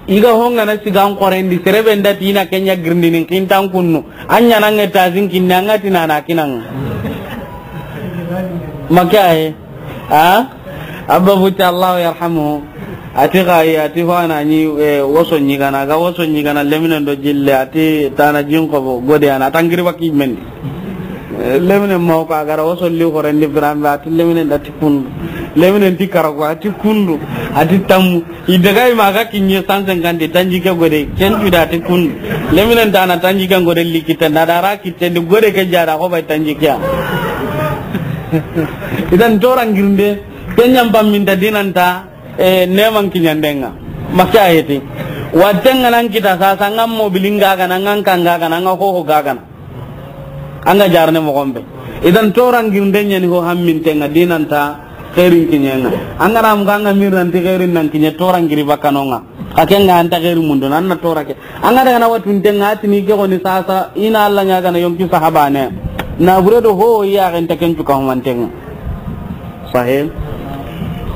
I ga ho ŋa na siga n xooren di, sere be nda ti i na ke ɲa girindini n kintan kunnu. An ɲa na ŋa étage n kinni, an ga ti na na kini a ŋa. Maka he. Ha? Abba Futi, Allahu yarhamuhu. A ti xa yi, a ti fo a na ɲi, eh, woso ɲigana, ga woso ɲigana, leminen do jille, a ti tana jin xobo, gode a na tangiri baki mendi. Eh, leminen ma ko a ga ra woso li xoren di birambe, a ti leminen da ti kundu. Leminen ti karago, a ti kundu, a ti tammu. I daga i ma ga kiɲe cent cinquante, tanji ke gode, ken tu da ti kundu. Leminen tana tanji ke gode li kitten, da da ra kitten di gode ke jara ko bay tanji ke ya. Idan toora ŋirinde, ke ɲa n pamminta dinanta, eh, neman kiɲandenŋa. Maka he ti. Watten ŋa nan kita saasa, an ga mobilin ga ga na, an ga kan ga ga na, an ga hoho ga ga na. An ga jarne moxon be. Idan toora ŋirinde ɲa ni ho hamminten ŋa dinanta xeerin kiɲen ŋa. An ga ra mugu an ga miranti xeerin nan kiɲe toora ŋiri baka no ŋa. Xa ken ga an ta xeeri mundu, nan na toora ke. An ga daga na watunten ŋa, a ti ni ke xoni saasa, i na Alla ɲaagana yonki sahabane. Na bure do ho ya ga nta ken cu ka humanten ŋa. Sahih.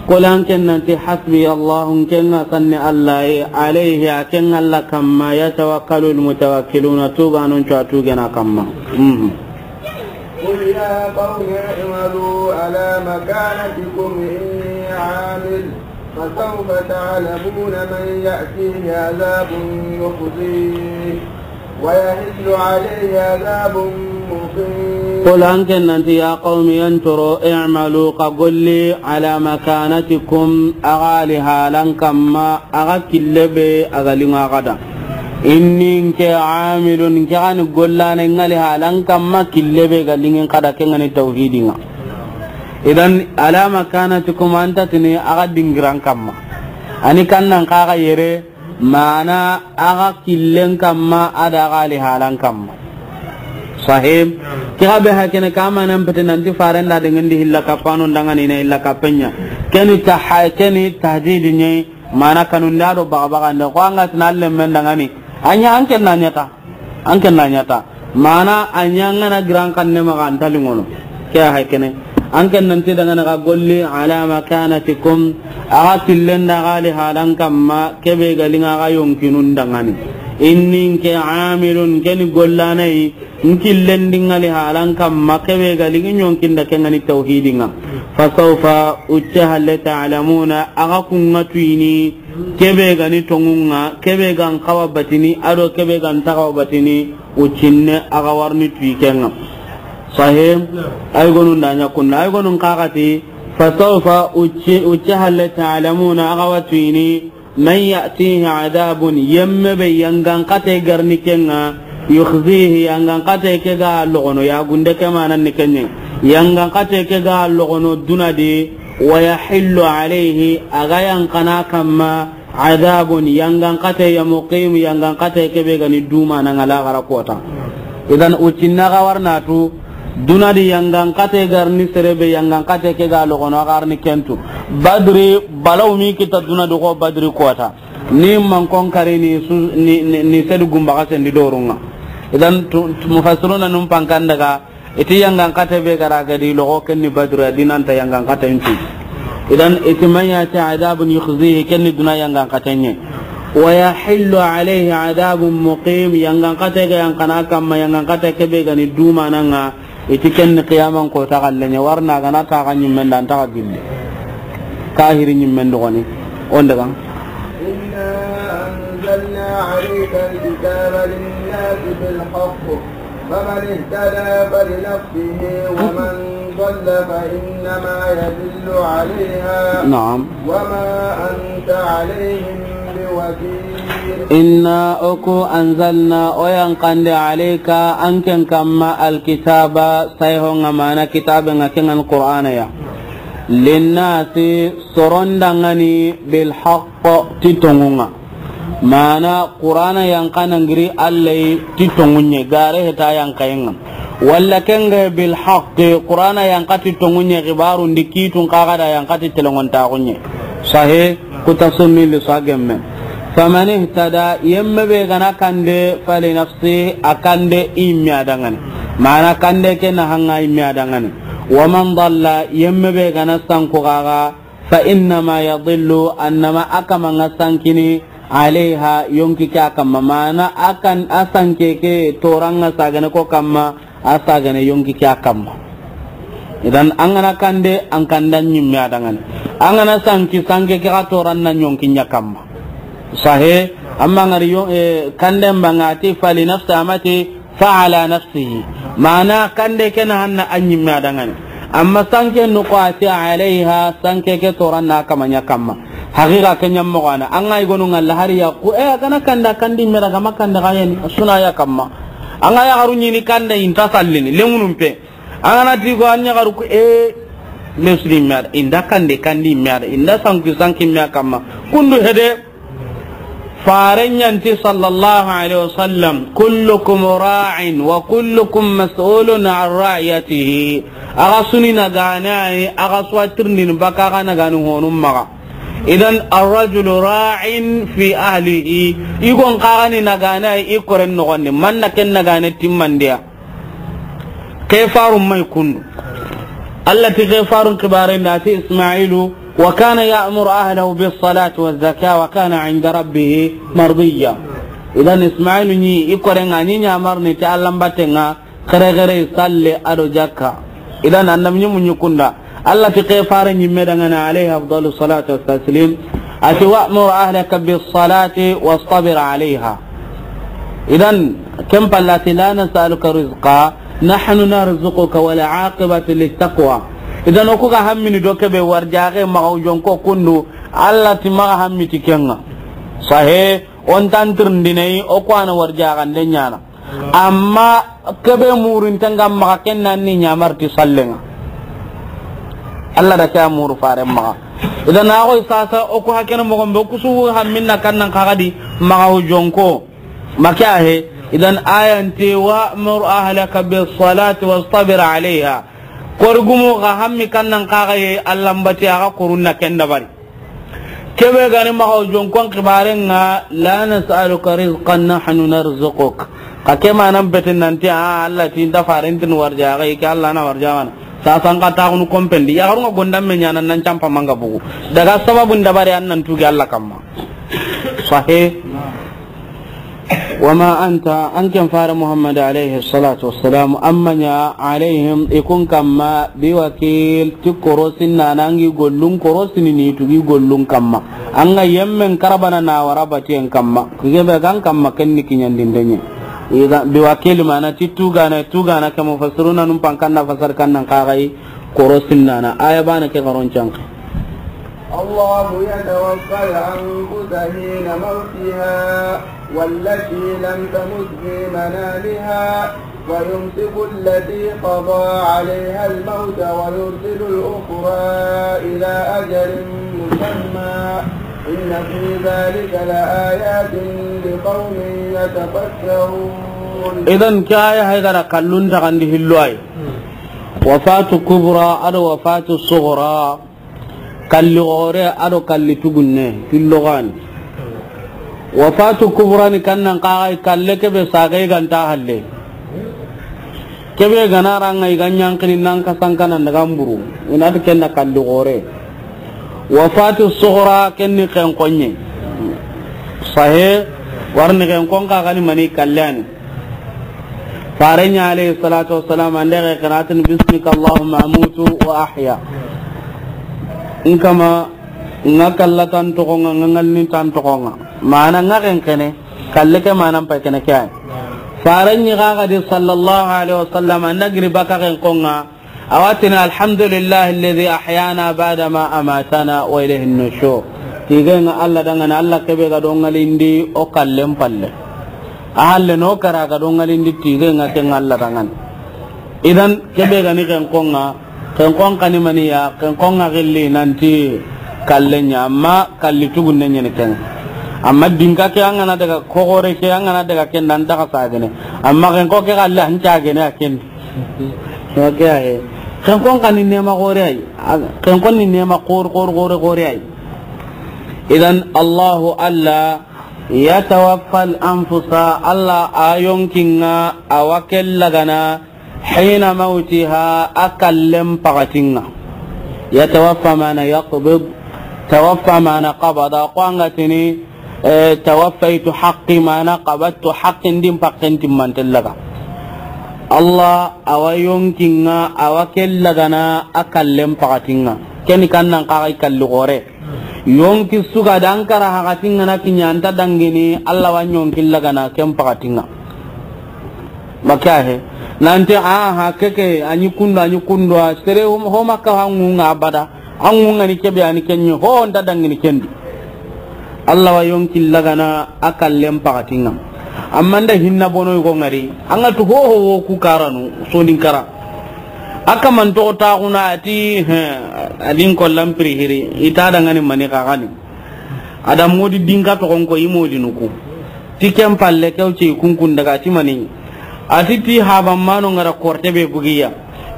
Qul, an ken nan ti, hasbi Allahu, n ken ŋa sanni Alla ye, alayhi, a ken Alla kamma, yatawakkalul mutawakkiluna, tuuganun cu a tuugana kamma. Mhm. قل يا قوم اعملوا على مكانتكم إني عامل فسوف تعلمون من يأتيه عذاب يخزيه ويحل عليه عذاب مقيم. Qul, an ken nan ti, ya qawmi, yan coro, i'malu, xa golli, ala makanatikum, a ga li halan kamma, a ga kille be a ga liŋa xa da. Inni, n ke, amilun, n ke ga ni gollana, ŋa li halan kamma, kille be ga liŋin xa da, ke ŋa ni tawhidin ŋa. Idan, ala makanatikum, an ta tini a ga dingiran kamma. A ni kannan xa ga yere, mana a ga killen kamma, a da a ga li halan kamma. Sahib, ke ga be hakene ka manan pete nanti faren da de ŋa ndi hilla kappanu n da ŋa ni na hilla kappen ɲa. Ke ni taha-, ke ni tahdidi ɲa, mana kanun da do baga baga nda ko an ga ti na lemmen da ŋa ni. A ɲa an ken na ɲa ta. An ken na ɲa ta. Mana a ɲa ŋa na giran kanne ma ga an ta liŋono. Ke ya hay kene. An ken nan ti da ŋa na ga golli ala makanatikum. A ga killen da a ga li halan kamma ke be ga liŋa a ga yonkinun da ŋa ni. Inni, n ke, amilun, ke ni gollana yi. N killen di ŋa li halan kamma ke be ga liŋi yonkin da ke ŋa ni tawhidin ŋa. Fasawfa, ucce halle, ta'lamuna, a ga kun ŋa tuyini. Ke be ga ni tonŋun ŋa, ke be ga n xawa batini, a do ke be ga n ta xawa batini, uccinne a ga wa riini tuyi ke ŋa. Sahib, ay gonun da ɲa kunna, ay gonun xa ga ti, fasawfa, ucci, ucce halle, ta'lamuna, a ga wa tuyini, man ya'tihi adabun, yemme be yangan xate ga riini ke ŋa, yukhzihi, yangan xate ke ga logono, ya gunde ke manan ni ke ɲa, yangan xate ke ga logono duna di, wa yahillu alayhi, a ga yanqana kamma, adabun, yangan xate ya, muqim, yangan xate ke be ga ni duma na ŋa laxara kota. Idan, uccinna ga wa riini a tu, duna di yangan xate ga riini sere be, yangan xate ke ga logono a ga riini ken tu. Badri, balaw mi kita duna di xo Badri kota. Ni man kon kari ni su, ni, ni, ni sedu gumba ga sendi dorun ŋa. Idan, tu, tu, mufassiruna nun pankan daga, Iti yangan xate be ga ra ga di logo, ken ni Badri, a di nanta yangan xate nti. Idan, iti man ya'tihi adabun yukhzihi, ken ni duna yangan xate ɲa. Wa yahillu alayhi adabun muqim, yangan xate ga yanqana kamma, yangan xate ke be ga ni duma na ŋa, iti ken ni qiyaman kota xalle ɲa, wa riini a ga na ta xa ɲimmen da, a nta xa gilli. Kahiri ɲimmen do goni. On daga. إنا أنزلنا عليك الكتاب للناس بالحق فمن اهتدى فلنفسه ومن ضل فإنما يضل عليها نعم. وما أنت عليهم بوكيل. Inna, o ku, anzalna, o yanqandi, alayka, an ken kamma, alkitaba, sayho ŋa, mana kitabe ŋa, ken ŋa ni Qur'ana ya. Linnasi, soron da ŋa ni, bilhaq, ti tonŋun ŋa. Mana Qur'ana yanqa na giri Alla yi ti tonŋun ɲa, gare heta yanqayen ŋa. Walla ken ga bilhaq, Qur'ana yanqa ti tonŋun ɲa, xibarun di kitun xa ga da yanqa ti telenŋontaxun ɲa. Sahe, kuta sunni li sa gemme. Faman ihtada, yemme be ga na kande, fali nafsi, a kande i yimme a da ŋa ni. Mana kande ke na haŋa i yimme a da ŋa ni. Wa man dalla, yemme be ga na sanku xa ga, fa innama yadillu, a na ma a kama ŋa sankini, alayha, yonki ke a kamma. Mana a kan, a sanke ke toran ŋa sagane ko kamma, a sagane yonki ke a kamma. Idan an ga na kande, an kande an yimme a da ŋa ni. An ga na sanki, sanke ke xa toran na yonki ɲa kamma. Sahe, amma ŋa ri yo-, eh, kande mba ŋa ti fali nafsi, a ma ti fa ala nafsihi. Mana kande ke na hanna an yimme a da ŋa ni. Amma sanke no ko a ti alayha, sanke ke toran na kama ɲa kamma. Haqiqa ke ɲa moxo wa na. An ga i gonu ŋalla hari ya ku, eh, a ga na kande, a kande i yimme da, a ga ma kande xa ya ni, a su na ya kamma. An ga ya xaru ɲi ni kande i nta sallini, lenŋunun pe. An ga na ti ko an ɲa xaru ku, eh, lesri i yimme a da, i nda kande, kande i yimme a da, i nda sanki, sanki i yimme a kamma. Kundu hede, Faren ɲa ti sallallahu alayhi wa sallam, kullukum ra'in wa kullukum mas'ulun an ra'iyatihi. Axa su ni nagaana yi, axa su wa tirindini baka axa nagaani honun maxa. Idan, arrajulu ra'in fi ahlihi. I gon xa ga ni nagaana yi i koren noxon di, man na ken nagaana timmandiya. Kefarun may kundu. Alla ti kefarun kibaren da ti Ismailu, wa kana ya'muru ahlahu bis salati waz zakati wa kana inda rabbihi mardiya. Idan Ismailu ni i koren ŋa ni ɲamarni ti Alla n batten ŋa, kere kere, salle a do jakka. Idan annabi ɲi mu ɲi kunda. Alla ti kefare ɲimme da ŋa ni, alayhi afdalu salatu wa taslim. A ti, "Wa'mur ahlaka bis salati wastabir alayha." Idan, ken palla ti, "La nas'aluka rizqa, nahnu narzuquka wal aqibatu lit taqwa." Idan, o ku ga hammini do kebe warjaxe maxa o jonko kundu, Alla ti maxa hammi ti ken ŋa. Sahe, o nta an tirindini, o ku wa na warjaxande ɲaana. Amma kebe murinten ga maxa ken na ni ɲamari ti sallen ŋa. Alla da ke a muru faren maxa. Idan a xoy sasa o ku hakene moxon be o ku su hamminna kannan xa ga di maxa o jonko. Ma ke a he. Idan ayan ti, "Wa'mur ahlaka bis salati wastabir alayha." Kori gumu xa hammi kannan xa ga ye Alla n bati axa korunna ken dabari. Kebe ga ni maxa o jonkon kibaren ŋa, "La nas'aluka rizqan, nahnu narzuquk." Xa ke manan beten nanti, a, Alla ti nta faren tin warjaxe, ke Alla na warjaxana. Sasan xa taxunu kompendi. Yaxarun ŋa gondamme ɲaana nan campa manga bugu. Daga sababun dabari an nan tugi Alla kamma. Sahe. Wa ma anta, an ken fare Muhammad alayhi salatu wassalam, an ma ɲa alayhim, i kun kamma, bi wakil, ti korosinna, an gi gollun korosini ni tugi gollun kamma. An ga yemmen karabana na wara batiyen kamma. Ku gebe gan kamma ken ni kiɲandinde ɲa. Iga, bi wakil mana ti tugana, tugana ke mufassiruna num pankanna fasar kannan xa ga yi korosinna na. Aya bana ke garon canki. الله يتوفى الأنفس حين موتها والتي لم تمت في منامها ويمسك التي قضى عليها الموت ويرسل الأخرى إلى أجل مسمى إن في ذلك لآيات لقوم يتفكرون. Idan ke aya hay gara kallun taxandi hillo ay. Wafatu kubra ado wafatu sugra. Kalli xoore ado kalli tugunne, fillo gani. Wafatu kubra ni kannan xa ga yi kalle kebe saga i ga nta halle. Kebe ga na ra ŋa i ga ɲankini nan kasan kanan daga mburu. I na ti ken na kalli xoore. Wafatu sugra ken ni xenkonɲe. Sahe, warni xenkon xa ga ni mani kalle ani. Faren ɲa alayhi salatu wassalam, an da ga qira'atin, "Bismika Allahumma amutu wa ahya." N kama, ŋa kalla tan toxon ŋa, ŋa ŋalini tan toxon ŋa. Mana ŋa xenqene, kalle ke manan pay kene ke ay. Faren ɲi xa ga di sallallahu alayhi wasallam, an da giri baka xenkon ŋa, A wa tini, "Alhamdulillahi alladhi ahyana ba'da ma amatana wa ilayhi nushur." Tigen ŋa Alla danŋa ni, Alla kebe ga do ŋalindi o kallen palle. A halle no kara ga do ŋalindi tigen ŋa ken Alla danŋa ni. Idan kebe ga ni ken konŋa, Ken kon xa ni mani ya, ken kon ŋa gilli nanti kalle ɲa, amma kalli tugunne ɲa ni ken. Amma dinka ke an ga na daga, kogore ke an ga na daga ken da an ta xa sagene. Amma ken ko ke kalle an sagene a ken. Oke aye. Ken kon xa ni nema gore ay. Ken kon ni nema gore, gore, gore, gore ay. Idan Allahu Alla yatawaffa al-anfusa, Alla a yonkin ŋa a wa ke lagana hina mawtiha, a kallen pakatin ŋa. Yatawaffa mana yaqbid, tawaffa mana qabada, ko an ga tini, eh, tawaffaytu haqqi mana qabadtu haqqi, n di n pakken timmanten laga. Alla a wa yonkin ŋa a wa ke lagana a kallen pakatin ŋa. Ken ni kan nan xa ga i kalli gore. Yonki su ga da an kara hakatin ŋa na kiɲa an ta dangini, Alla wa yonkin lagana ken pakatin ŋa. Maka he. Nanti, aha, keke, a ɲi kundu, a ɲi kundu, a sere ho, ho Makka hangu ŋa abada. Hangu ŋa ni kebe a ni kenɲi, ho n ta dangini ken di. Alla wa yonkin lagana a kallen pakatin ŋa. Amma n da hinna bono yugo ŋari. An ga tu ho ho wo ku karanu, sonin kara. A kaman toxo taxuna a ti, he, a di n kollan piri hiri, i ta dangani mani xa ga ni. A da modi dinka toxon ko i modi nuku. Ti ken palle kew ce i kunkun daga ti mani. A ti ti haban mano ŋa ra korte be bugiya.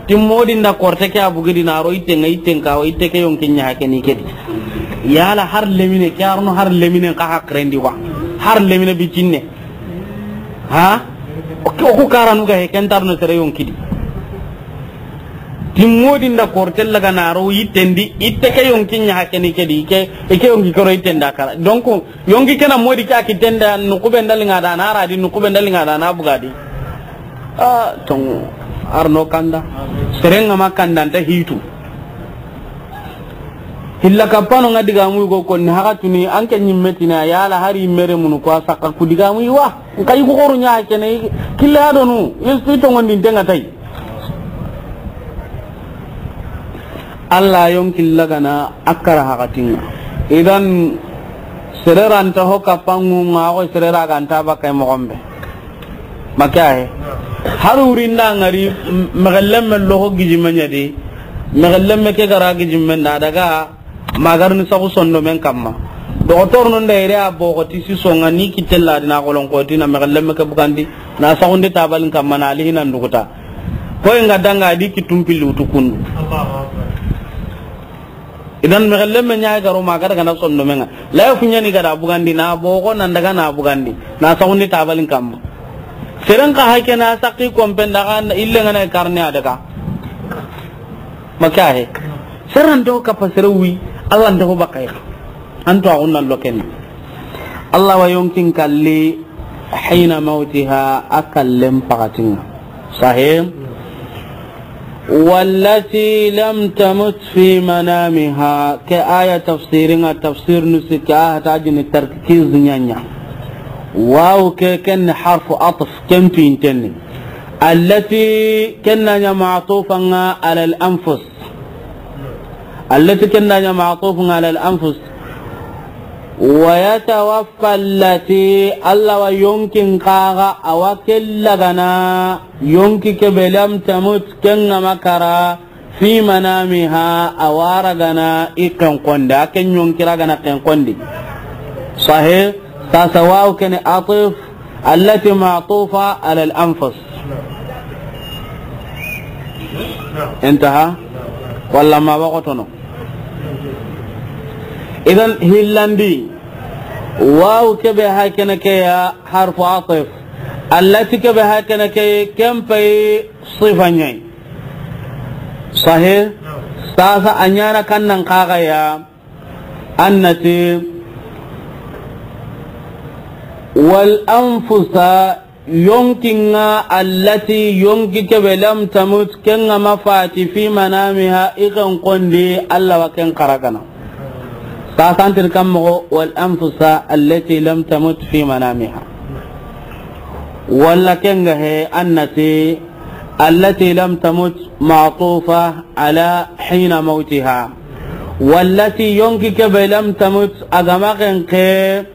Ti modi n da korte ke a bugidi na ro itte ŋa, itte n ka wa itte ke yonkin ɲa hake ni ke di. Yala har lemine, ke arno har lemine xa hakrendi wa. Har lemine bicinne. Ha? O ku, o ku karanu ga he ken tarno sere yonki di. Ti modi n da korte lagana ro yitten di, itte ke yonkin ɲa hake ni ke di, ke, ke yonki koro yitten da kara. Donc, yonki ke na modi ke a kitten da, nuku be n da liŋa da na ra di, nuku be n da liŋa da na buga di. Ah, tongu, arno kanda. Sere ŋa ma kanda n ta hitu. Hilla kappano ŋa digamu yugo konni haka tuni an ke ɲimme tina yala hari mere munu ko a saka ku digamu yi wa. N ka yugo xoru ɲa kene kille adonu, i tongondi n te ŋa tay. Alla yonkin lagana a kara hakatin ŋa. Idan sere ra n ta ho kappangu ŋa, ko sere ra ga n ta bakay moxon be. Maka he. Har wuri n da ŋari, m-, mexellemme loxo gijime ɲa di. Mexellemme ke ga ra gijime n da daga, ma ga ri ni saxu sondomen kamma. Doxotor nun da yere a boxo ti si soŋa ni kitte la di na xolon xoti na mexellemme ke bugandi, na saxundi tabalin kamma na lihinan duguta. Ko i ŋa danga di kittun pilli wutu kundu. Idan mexellemme ɲa ga ro ma ga daga na sondomen ŋa. Laye fu ɲa ni ga da bugandi na boxo nan daga na bugandi. Na saxundi tabalin kamma. Seren xa hake na saki kompen daga ille ŋa na karne a daga. Maka he. Sere n ta ho kappa sere wi, Alla n ta ho bakay. An to a gunna loken. Alla wa yonkin kalli hina mawtiha a kallen pakatin ŋa. Sahe. Wallati lam tamut fi manamiha. Ke aya tafsirin ŋa tafsir nusika hata jini tarkiz ɲa ɲa. Waw ke ken harfu atf ken tu intenni. Allati ken na ɲa ma'tufan ŋa ala al anfus. Allati ken da ɲa ma'tufun ala al anfus. Wa yatawaffa allati, Alla wa yonkin xa ga a wa ke lagana, yonki ke be lam tamut ken ŋa ma kara, fi manamiha a wa ragana i ken konde, a ken yonki ragana ken konde. Sahe, sasa waw ken atf, allati ma'tufa ala al anfus. Intaha? Walla ma waxotono. Idan hillandi, waw ke be ha kene ke ya harfu atf. Allati ke be ha kene ke ken pay sifa ɲa yi. Sahe? Sasa a ɲa na kan nan xa ga ya. Annati wal anfusa, yonkin ŋa, allati, yonki ke be, lam tamut, ken ŋa ma fati, fi manamiha, i ken kondi, Alla wa ken xa ragana. Sasantir kan moxo, wal anfusa allati lam tamut fi manamiha. Walla ken ga he, annati, allati lam tamut ma'tufa ala hina mawtiha. Wallati, yonki ke be, lam tamut, a ga ma ken xe,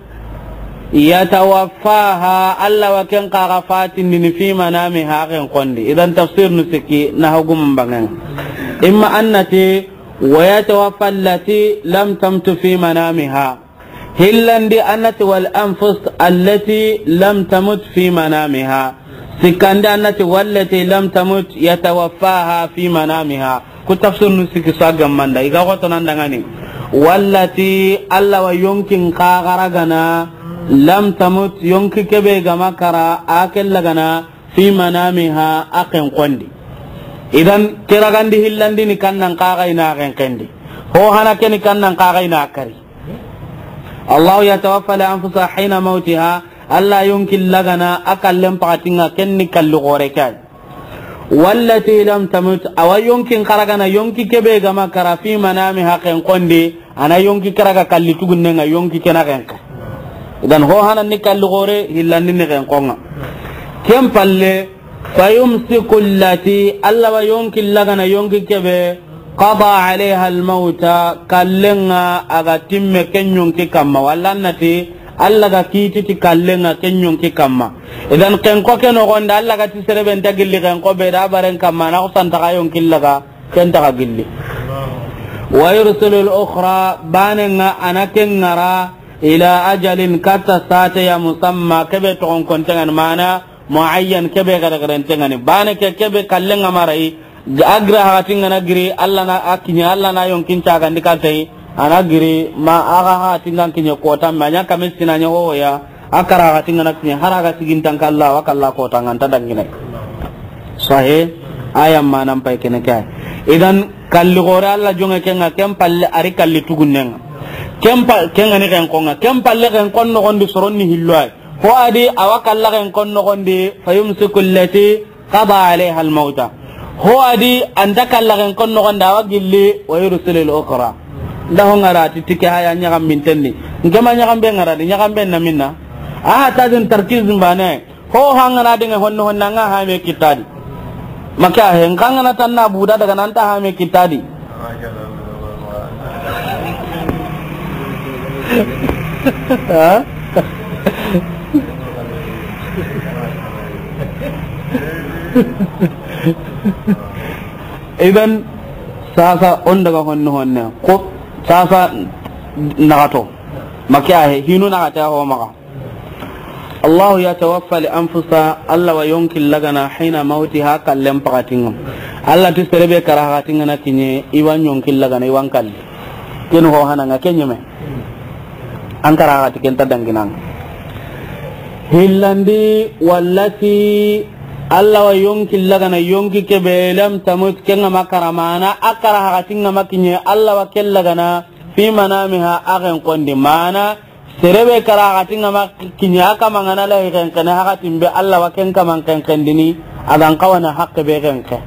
yatawaffaha, Alla wa ken xa ga fatindini, fi manamiha, ken kondi. Idan tafsir nu siki na hogum bangen. Imma an na ti, wa yatawaffa allati lam tamut fi manamiha. Hillandi an na ti, wal anfus allati lam tamut fi manamiha. Sikkandi an na ti, wallati lam tamut yatawaffaha fi manamiha. Ku tafsir nu sikki su a gammanda, i ga xoto nan dangani. Wallati, Alla wa yonkin kaxara gana, lam tamut, yonki kebe gama kara, a kella gana, fi manamiha, a ken kondi. Idan, ke ragandi hillandi ni kannan kaxa ina ken kendi. Ho hana ke ni kannan kaxa ina kari. Allahu yatawaffa al anfusa hina mautiha, Alla yonki lagana, a kallen pakatinga ken ni kalli gore kai. Wallati lam tamut, awa yonkin karagana, yonki kebe gama kara fi manamiha ken kondi, ana yonki karaga kalli tugunnenga, yonki kena ken ka. Idan ho hanan ni kalli gore, hillandi ni ken konga. Ken palle, fayumsiku allati, Alla wa yonki lagana, yonki kebe, qada alayha almauta, kallenga a ga timme ken yonki kamma, walla an na ti, Alla ga kiti ti kallenga ken yonki kamma. Idan ken ko ke noxonde, Alla ga ti serebe nta gilli ken ko be da baren kamma, na ko santa ga yonki laga, ken ta ga gilli. Wa yursilu al-ukhra, banenga ana ken ngara, ila ajalin, katta sate ya musamma, kebe toxon kontengani mana, muayyan, kebe gare garentengani. Bane ke kebe kallenga marai, a gira hakatingana giri, Alla na a kiñe, Alla na yonkin cagandi katai, ana giri, ma aga hakatingan kiñe kota, ma nya kame sina nya hoya, a kara hakatingana kiñe, hara ga sigintan kalla, wa kalla kota, nganta dangine. Sahe, aya manan pay kene kay. Idan, kalli gore Alla jonge kenga, ken palle ari kalli tugunnenga. Ken pa-, kenga ni ken konga. Ken palle ken kon noxondi soronni hilloy. Ho adi awa kalla ken kon noxondi, fayumsiku allati qada alayha almauta. Ho adi anta kalla ken kon noxondi awa gilli, wa yursilu al-ukhra. Nda ho ngara ti tike haya ñaxam mintenni. Nkema ñaxam be ngara di, ñaxam be na minna. Aha, tadin tarkiz mbane. Ho hangana dinga honno honna nga ha me kitadi. Maka he, nkangana tanna buda daga nanta ha me kitadi. Ha? Idan, sasa on daga honno honne. Ko, sasa nagato. Maka he, hinu nagata ho maka. Allahu yatawaffa al-anfusa, Alla wa yonki lagana, hina mautiha, kallen pakatinga. Alla ti serebe kara hakatingana kiñe, iwan yonki lagana, iwan kalli. Ken ho hananga, ken ñeme. An kara hakati ken ta danginanga. Hillandi, wallati, Alla wa yonki lagana, yonki kebe, lam tamut, kenga makara mana, a kara hakatinga makiñe, Alla wa ken lagana, fi manamiha, a ken kondi mana, Serebe kara hakatinga ma kiñe a kamangana lahi kenkene hakatin be Alla wa ken kaman kenkendini, a gan kawana hakke be kenke.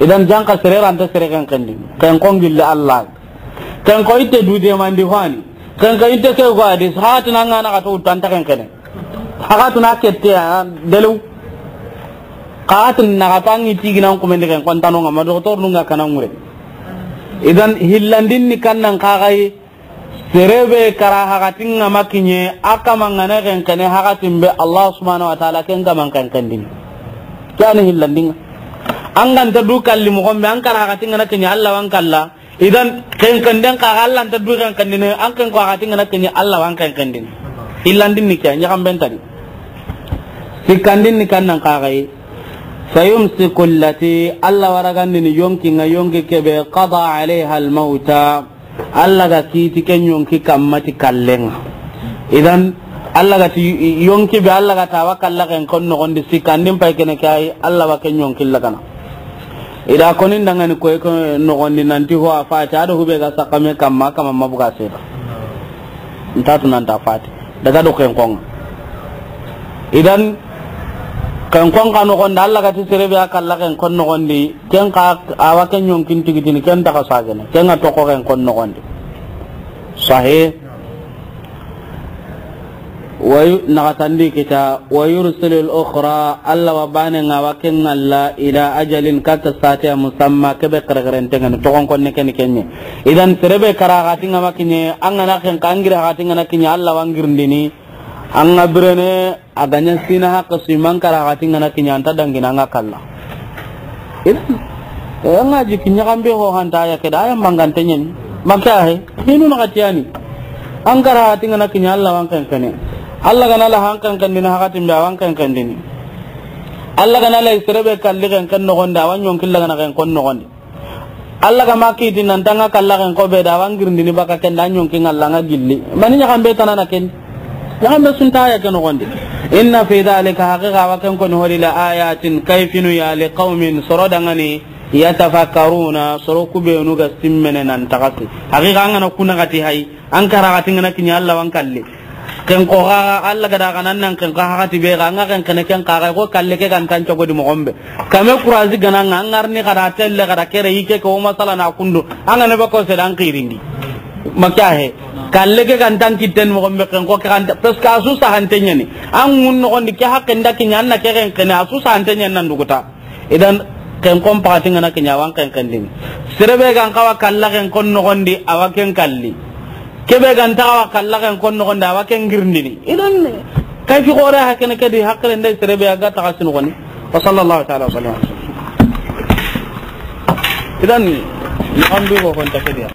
Idan janka sere ranta sere kenkendini. Ken ko ngille Alla. Ken ko itte du demandi fani. Ken ko itte ke ko adi hakatina ngana kato utanta kenkene. Hakatina kette a delu. Hakatina katangi tiginan kumende ken kontano ngama doktor nunga kanangure. Idan hillandin ni kannan kagai. Serebe kara hakatinga makiñe, a kamangana kenkene hakatin be Allah subhanahu wa ta'ala ken kaman kenkendini. Kani hillandinga. An ganta du kalli moxon be, an kara hakatinga na kiñe Allah wan kalla. Idan kenkenden ka Allah nta du kenkendini, an ken ko hakatinga na kiñe Allah wan kenkendini. Hillandin ni ke, ñaxamben tadi. Sikkandin ni kannan kaxayi. Fayumsiku allati, Allah waragandini yonkinga yonki kebe, qada alayha almauta. Allah ga kiti ken yonki kamma ti kallenga. Idan, Allah ga ti yonki be, Allah ga tawa kalla ken kon noxondi sikkandin pay kene kay, Allah wa ken yonki lagana. Ida konin dangani koy ko noxondi nanti ho a fati, ado hube ga sakame kamma, kamma mabuga seda. Ntatu nanta fati. Daga do ken konga. Idan, ken kon ka noxondi, Allah ga ti serebe a kalla ken kon noxondi, ken ka awa ken yonkin tigitini, ken daga sagene, ken ga toko ken kon noxondi. Sahi. Wayu, naxatandi kita, wa yursilul ukhra, Allah wa bane nga wa ken ngalla, ila ajalin katta sate musamma, kebe kere kere ntengani, toxon konne ken kenye. Idan, serebe kara hakatinga makiñe, an gana ken ka an giri hakatinga na kiñe, Allah wa ngirndini, An ga birene, a ga ña sina haqe su, i man kara hakatinga na kiñe, anta dangina an ga kalla. Idan, Eh, an ga jiki ɲaxambe ho hanta aya ke da, aya mangante ɲani. Maka he, hinu na xatiyani. An kara hati ngana kiɲa Allah wa an kenkene. Allah gana la han kenkendini hakatin be, a wa an kenkendini. Allah gana la sere be kalli kenken noxondi, a wa ɲonki la gana kenkon noxondi. Allah ga ma kiti nan tanga kalla kenko be da, a wa an girindini baka ken da, a ɲonki ngalla nga gilli. Mani ɲaxambe tanana ken. Ɲaxambe sunta aya ke noxondi. Inna fi dhalika, haqiqa wa ken koni hori, la ayatin, kayfinu ya, li qawmin, soro dangani, yatafakkaruna, soro kubenu ga simmene nan taxasi. Haqiqa an gana kuna gati hay, an kara gati ngana kiɲa Allah wa an kalli. Kenko ga Allah ga da ga nan nan kenko hati be ga, an ga kenkene ken kaga ko kalle ke gantan cogodi moxombe. Kame kurazi gana nga an garni kada telle kada kere ike ko masala na kundu. An gana bako sedan kirindi. Maka he. Kalle ke gantan kitten moxombe kenko ke ganta. Parce que a su sahante ɲani. An ŋun noxondi ke haqqe nda kiɲa an na ke kenkene, a su sahante ɲani nan duguta. Idan, kenkon paxati ngana kiɲa, a wa an kenkendini. Sere be gan xawa kalla kenkon noxondi, a wa ken kalli. Ke be gan taxawa kalla kenkon noxondi, a wa ken girindini. Idan, kayfi xoore hakene ke di, hakkile nda sere be a ga taxasi noxoni. Wa sallallahu ta'ala wa sallam. Idan, ni an du ko kon ta ke di ya.